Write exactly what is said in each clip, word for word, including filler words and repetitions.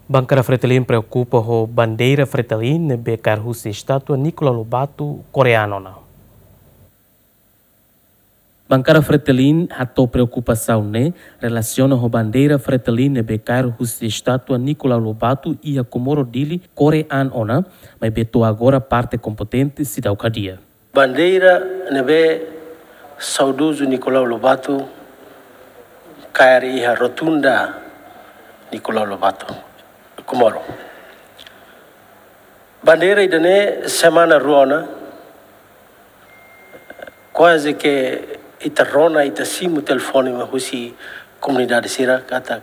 Bankada Fretilin preokupa ho bandeira Fretilin ne'ebé kaer husi estátua Nicolau Lobato, Korea an ona. Bankada Fretilin hato'o preokupasaun ne'e relasiona ho bandeira Fretilin ne'ebé kaer husi estátua Nicolau Lobato iha Comoro, Dili, Korea an ona, maibé to'o agora parte kompetente seidauk hadi'a. Bandeira ne'ebé saudozu Nicolau Lobato kaer iha rotunda Nicolau Lobato, Comoro. Bandeira ida-ne'e semana rua ona, kuaze ke ita rona, ita simu telefone mai husi komunidade sira katak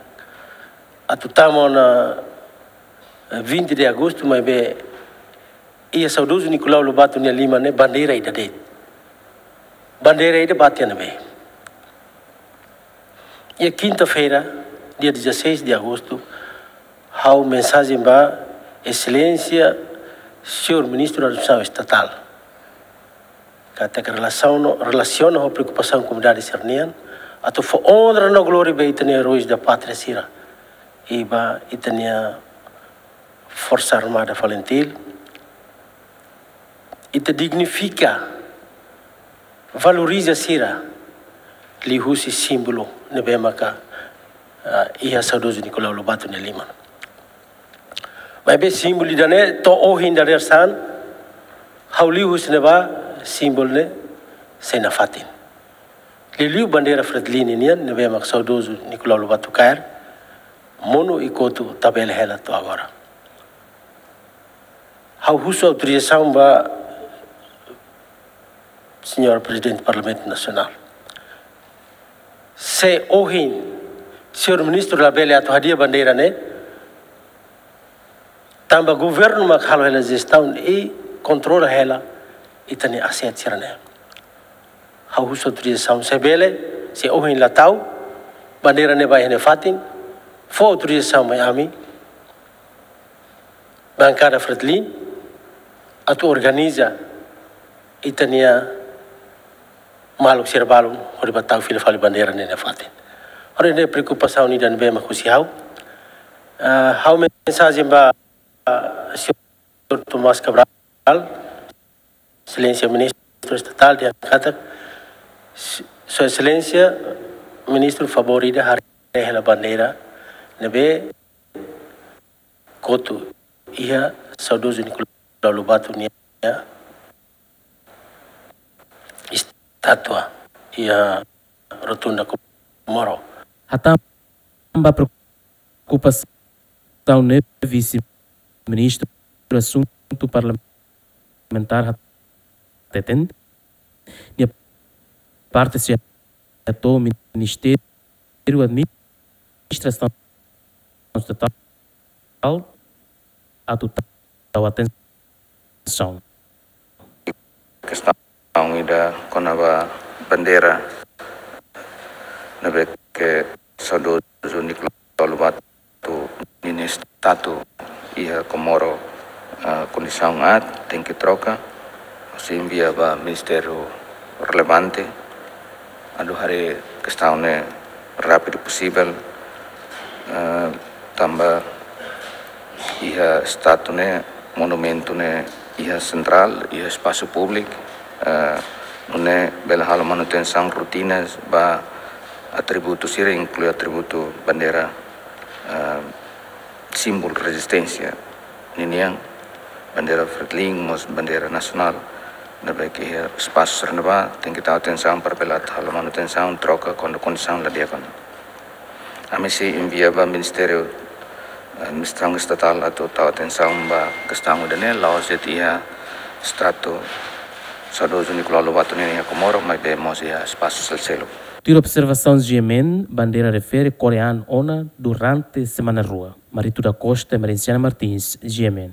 atu tama ona, eh, vinte de agosto, maibé iha saudozu Nicolau Lobato nia liman ne'e bandeira ida de'it. Bandeira ida ba tiha ne'ebé. Iha kinta-feira, dia dezasseis de agosto, ha'u mensajen ba Exelénsia Señór Ministru Administrasaun Estatál katak relasiona, relasiona ho preokupasaun komunidade sira-nian, atu fó onra no glória ba ita-nia eróis da pátria sira, i ba ita-nia Forsa Armada FALINTIL, ita dignifika, valoriza sira liuhusi símbolu ne'ebé maka, ah, iha saudozu Nicolau Lobato nia liman. Maibé símbolu ida-ne'e to'o ohin dadeer-saan, ha'u liu husi ne'ebá símbolu ne'e sei nafatin. Liuliu bandeira Fretilin nian ne'ebé maka saudozu Nicolau Lobato kaer, monu i kotu tabele hela to'o agora. Ha'u husu autorizasaun ba Señór Prezidente Parlamentu Nasionál. Se ohin Señór Ministru labele atu hadi'a bandeira ne'e, tanba governu mak halo hela jestaun i kontrola hela ita-nia aset sira-ne'e. Ha'u husu autorizasaun, se bele, se ohin la tau bandeira ne'e ba iha nia fatin, fó autorizasaun mai ami, Bankada Fretilin, atu organiza ita-nia maluk sira balun hodi ba tau fila fali bandeira ne'e nia fatin. Hodi ne'e preokupasaun ida ne'ebé mak husi ha'u. Ah, ha'u mensajen ba, ah, Señór Tomás Cabral, Exelénsia Ministru Estatál, dehan katak, Sua Exelénsia Ministru, favór ida haree hela bandeira ne'ebé kotu iha saudozu Nicolau Lobato nia estátua iha rotunda Comoro. Hatán ba preokupasaun ne'e, Vise-Ministru Asuntu Parlamentár hateten, nia parte sei hato'o Ministériu Administrasaun Estatál atu tau atensaun. Kestaun ida kona-ba bandeira ne'ebé ke saudozu Nicolau Lobato ninia estátua iha Comoro, ah, kondisaun aat, tenke troka, sei envia ba ministériu relevante, atu haree kestaun ne'e rápidu posivel, ah, tanba iha estátua ne'e, monumentu ne'e iha sentrál, iha espasu públiku, ah, nune'e bele halo manutensaun rotina ba atributu sira, inklui atributu bandeira, ah, símbolu rezisténsia ninian, bandeira Fretilin, mós bandeira nasionál, ne'ebé ke iha espasu sira ne'ebá, tenke tau atensaun para bele atu halo manutensaun, troka kuandu kondisaun la di'ak ona. Ami sei envia ba Ministériu, eh, Administrasaun Estatál atu tau atensaun ba kestaun ida-ne'e, la'ós de'it iha estátua saudozu Nicolau Lobato nian iha Comoro, maibé mós iha espasu seluk-seluk. Tuir observasaun GMN, bandeira refere Korea an ona durante semana rua. Marito da Costa, Emerenciana Martins, GMN.